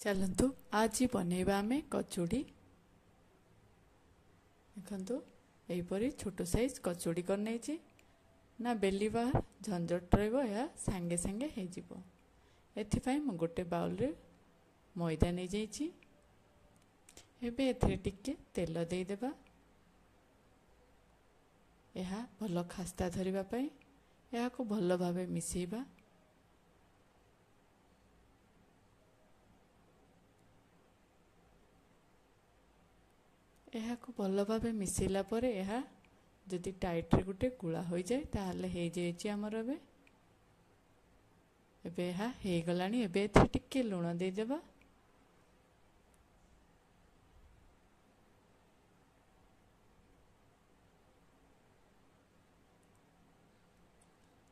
ଚାଲନ୍ତୁ ଆଜି ବନେଇବା ଆମେ କଚୁଡ଼ି। ଦେଖନ୍ତୁ ଏହିପରି ଛୋଟ ସାଇଜ୍ କଚୁଡ଼ି କରିନେଇଛି, ନା ବେଲିବା ଝଞ୍ଝଟ ରହିବ, ଏହା ସାଙ୍ଗେ ସାଙ୍ଗେ ହେଇଯିବ। ଏଥିପାଇଁ ମୁଁ ଗୋଟେ ବାଉଲରେ ମଇଦା ନେଇଯାଇଛି। ଏବେ ଏଥିରେ ଟିକେ ତେଲ ଦେଇଦେବା, ଏହା ଭଲ ଖାସ୍ତା ଧରିବା ପାଇଁ। ଏହାକୁ ଭଲ ଭାବେ ମିଶାଇବା। ଏହାକୁ ଭଲ ଭାବେ ମିଶାଇଲା ପରେ ଏହା ଯଦି ଟାଇଟ୍ରେ ଗୋଟେ ଗୁଳା ହୋଇଯାଏ ତାହେଲେ ହେଇଯାଇଛି ଆମର। ଏବେ ଏହା ହେଇଗଲାଣି। ଏବେ ଏଥିରେ ଟିକେ ଲୁଣ ଦେଇଦେବା।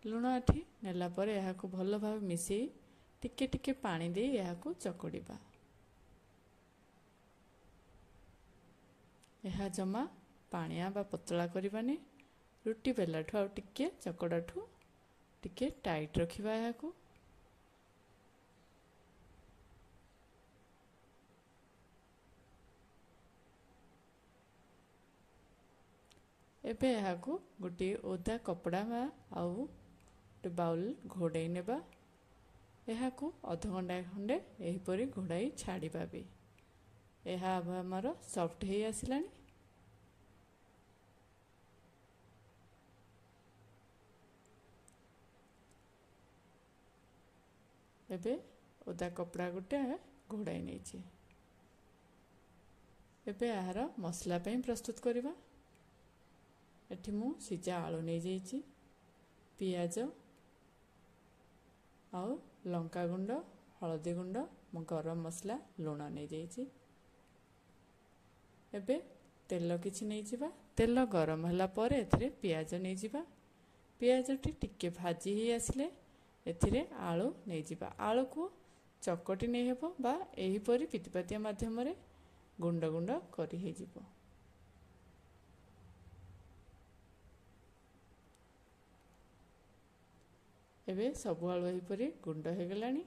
ଲୁଣ ଏଠି ନେଲା ପରେ ଏହାକୁ ଭଲ ଭାବେ ମିଶାଇ ଟିକେ ଟିକେ ପାଣି ଦେଇ ଏହାକୁ ଚକଡ଼ିବା। ଏହା ଜମା ପାଣିଆ ବା ପତଳା କରିବାନି, ରୁଟି ବେଲାଠୁ ଆଉ ଟିକେ ଚକଡ଼ାଠୁ ଟିକେ ଟାଇଟ୍ ରଖିବା ଏହାକୁ। ଏବେ ଏହାକୁ ଗୋଟିଏ ଓଦା କପଡ଼ା ବା ଆଉ ଗୋଟେ ବାଉଲ୍ ଘୋଡ଼େଇ ନେବା। ଏହାକୁ ଅଧଘଣ୍ଟା ଖଣ୍ଡେ ଏହିପରି ଘୋଡ଼ାଇ ଛାଡ଼ିବା ବି। ଏହା ଆମର ସଫ୍ଟ ହେଇ ଆସିଲାଣି। ଏବେ ଓଦା କପଡ଼ା ଗୋଟେ ଘୋଡ଼ାଇ ନେଇଛି। ଏବେ ଏହାର ମସଲା ପାଇଁ ପ୍ରସ୍ତୁତ କରିବା। ଏଠି ମୁଁ ସିଝା ଆଳୁ ନେଇଯାଇଛି, ପିଆଜ ଆଉ ଲଙ୍କା ଗୁଣ୍ଡ, ହଳଦୀ ଗୁଣ୍ଡ, ମୁଁ ଗରମ ମସଲା, ଲୁଣ ନେଇଯାଇଛି। ଏବେ ତେଲ କିଛି ନେଇଯିବା। ତେଲ ଗରମ ହେଲା ପରେ ଏଥିରେ ପିଆଜ ନେଇଯିବା। ପିଆଜଟି ଟିକେ ଭାଜି ହେଇ ଆସିଲେ ଏଥିରେ ଆଳୁ ନେଇଯିବା। ଆଳୁକୁ ଚକଟି ନେଇହେବ ବା ଏହିପରି ପିତିପାତିଆ ମାଧ୍ୟମରେ ଗୁଣ୍ଡ ଗୁଣ୍ଡ କରି ହେଇଯିବ। ଏବେ ସବୁ ଆଳୁ ଏହିପରି ଗୁଣ୍ଡ ହେଇଗଲାଣି।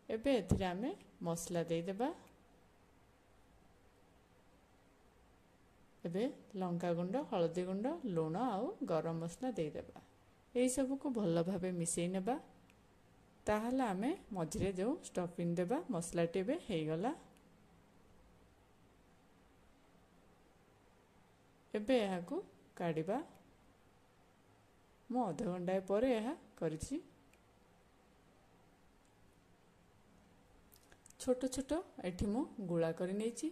ଏବେ ଏଥିରେ ଆମେ ମସଲା ଦେଇଦେବା। ଏବେ ଲଙ୍କା ଗୁଣ୍ଡ, ହଳଦୀ ଗୁଣ୍ଡ, ଲୁଣ ଆଉ ଗରମ ମସଲା ଦେଇଦେବା। ଏହିସବୁକୁ ଭଲ ଭାବେ ମିଶାଇ ନେବା। ତାହେଲେ ଆମେ ମଝିରେ ଯେଉଁ ଷ୍ଟଫିଂ ଦେବା, ମସଲାଟି ଏବେ ହେଇଗଲା। ଏବେ ଏହାକୁ କାଢ଼ିବା। ମୁଁ ଅଧଘଣ୍ଟାଏ ପରେ ଏହା କରିଛି। ଛୋଟ ଛୋଟ ଏଠି ମୁଁ ଗୁଳା କରି ନେଇଛି,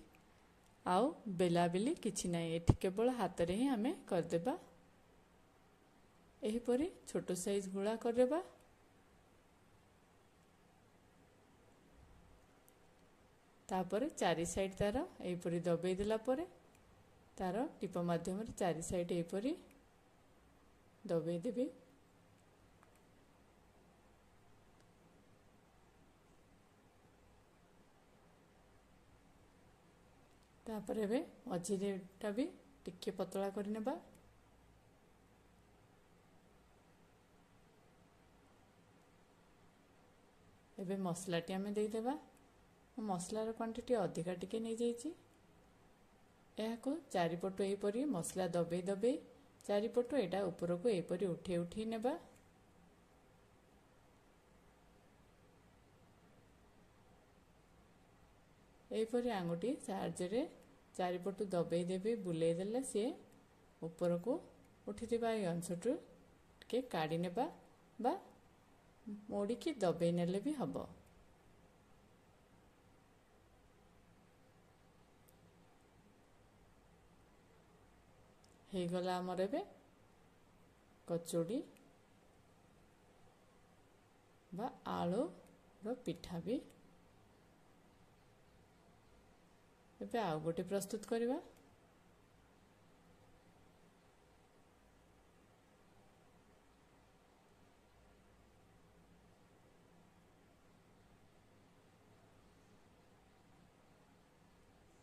ଆଉ ବେଲାବେଲି କିଛି ନାହିଁ, ଏଠି କେବଳ ହାତରେ ହିଁ ଆମେ କରିଦେବା। ଏହିପରି ଛୋଟ ସାଇଜ୍ ଗୁଳା କରିଦେବା। ତାପରେ ଚାରି ସାଇଡ଼୍ ତାର ଏହିପରି ଦବେଇ ଦେଲା ପରେ ତାର ଟିପ ମାଧ୍ୟମରେ ଚାରି ସାଇଡ଼୍ ଏହିପରି ଦବେଇ ଦେବି। ତାପରେ ଏବେ ମଝିରେଟା ବି ଟିକେ ପତଳା କରିନେବା। ଏବେ ମସଲାଟି ଆମେ ଦେଇଦେବା। ମୁଁ ମସଲାର କ୍ୱାଣ୍ଟିଟି ଅଧିକା ଟିକେ ନେଇଯାଇଛି। ଏହାକୁ ଚାରିପଟୁ ଏହିପରି ମସଲା ଦବେଇ ଦବେଇ ଚାରିପଟୁ ଏଇଟା ଉପରକୁ ଏହିପରି ଉଠେଇ ଉଠେଇ ନେବା। ଏହିପରି ଆଙ୍ଗୁଠି ସାହାଯ୍ୟରେ ଚାରିପଟୁ ଦବେଇ ଦେବି, ବୁଲେଇ ଦେଲେ ସିଏ ଉପରକୁ ଉଠିଥିବା ଏହି ଅଂଶଠୁ ଟିକେ କାଢ଼ି ନେବା ବା ମୋଡ଼ିକି ଦବେଇ ନେଲେ ବି ହେବ। ହେଇଗଲା ଆମର ଏବେ କଚୁଡ଼ି ବା ଆଳୁର ପିଠା ବି। ଏବେ ଆଉ ଗୋଟେ ପ୍ରସ୍ତୁତ କରିବା।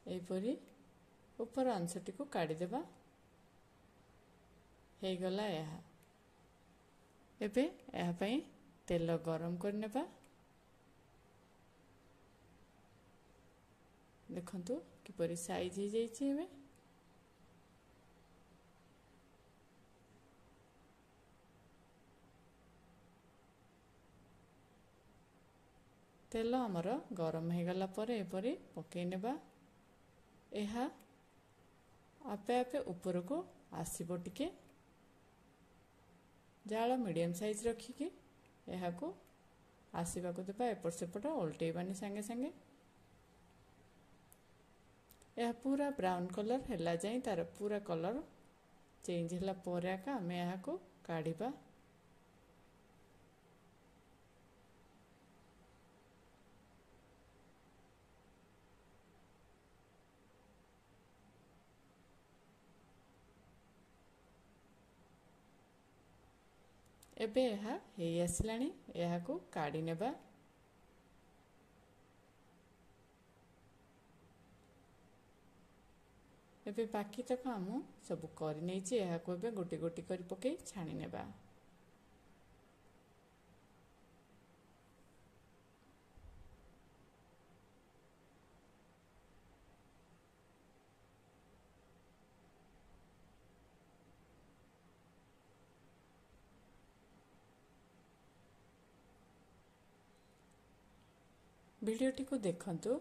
ଏହିପରି ଉପର ଅଂଶଟିକୁ କାଢ଼ିଦେବା। ହେଇଗଲା ଏହା। ଏବେ ଏହା ପାଇଁ ତେଲ ଗରମ କରିନେବା। ଦେଖନ୍ତୁ କିପରି ସାଇଜ୍ ହେଇଯାଇଛି। ଏବେ ତେଲ ଆମର ଗରମ ହେଇଗଲା ପରେ ଏପରି ପକାଇ ନେବା। ଏହା ଆପେ ଆପେ ଉପରକୁ ଆସିବ। ଟିକେ ଜାଳ ମିଡ଼ିୟମ୍ ସାଇଜ୍ ରଖିକି ଏହାକୁ ଆସିବାକୁ ଦେବା, ଏପଟ ସେପଟ ଓଲଟେଇବାନି ସାଙ୍ଗେ ସାଙ୍ଗେ। ଏହା ପୁରା ବ୍ରାଉନ୍ କଲର୍ ହେଲା ଯାଏଁ, ତାର ପୁରା କଲର୍ ଚେଞ୍ଜ ହେଲା ପରେ ଏକା ଆମେ ଏହାକୁ କାଢ଼ିବା। ଏବେ ଏହା ହେଇ ଆସିଲାଣି, ଏହାକୁ କାଢ଼ି ନେବା। ଏବେ ବାକି ତକ ମୁଁ ସବୁ କରିନେଇଛି। ଏହାକୁ ଏବେ ଗୋଟି ଗୋଟି କରି ପକାଇ ଛାଣି ନେବା। ଭିଡ଼ିଓଟିକୁ ଦେଖନ୍ତୁ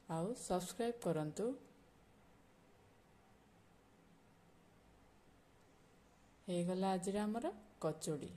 ଆଉ ସବସ୍କ୍ରାଇବ୍ କରନ୍ତୁ। ହେଇଗଲା ଆଜିର ଆମର କଚୋଡ଼ି।